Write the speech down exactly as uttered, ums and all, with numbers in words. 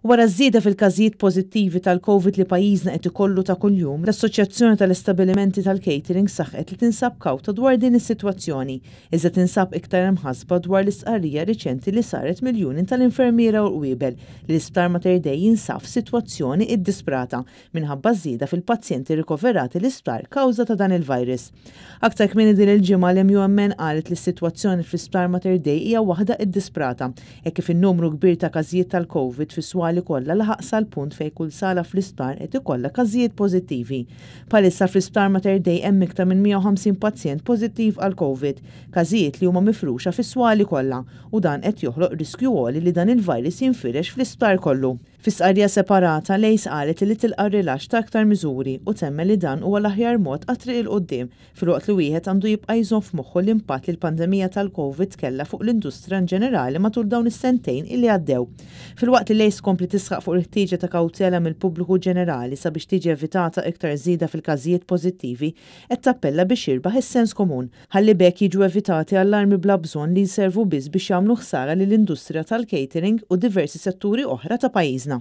Wara żieda fil-każijiet pożittivi tal-Covid li pajjiżna qed ikollu ta' kuljum, l-Assoċjazzjoni tal-Istabbilimenti tal-Catering saħqet li tinsab kawta dwar din is-sitwazzjoni, iżda tinsab iktar imħasba dwar l-istqarrija riċenti li saret mill-Union tal-Infermiera u l-Qwiebel li l-Isptar Mater Dei jinsab f'sitwazzjoni iddisprata minħabba żieda fil-pazjenti rikoverati l-isptar kawża ta' dan il-virus. Aktar kmieni din il-ġimgħa, l-M U M N qalet li s-sitwazzjoni fl-Isptar Mater Dei hija waħda iddisprata e kif in-numru kbir ta' każijiet tal-Covid fis-swali kollha laħaq sal-punt fejn kull sala fl-isptar qed ikollha każijiet pożittivi. Bħalissa fl-Isptar Mater Dei hemm iktar minn mija u ħamsin pazjent pożittiv għal Covid, każijiet li huma mifruxa fis-swali kollha, u dan qed joħloq riskju għoli li dan il-virus jinfirex fl-isptar kollu. Fi stqarrija separata, l-A C E qalet li tilqa' rilaxx ta' aktar miżuri u temmen li dan huwa l-aħjar mod għat-triq 'il quddiem, filwaqt li wieħed għandu jibqa' jżomm f'moħħu l-impatt li l-pandemija tal-Covid kellha fuq l-industrija in ġenerali matul dawn is-sentejn illi għaddew. Filwaqt li l-A C E tkompli tisħaq fuq il-ħtieġa ta' kawtela mill-pubbliku ġenerali sabiex tiġi evitata iktar żieda fil-każijiet pożittivi, qed tappella biex jirbaħ is-sens komun ħalli b'hekk jiġu evitati allarmi bla bżonn li jservu biss biex jagħmlu ħsara lill-industrija tal-catering u diversi setturi oħra ta' pajjiżna.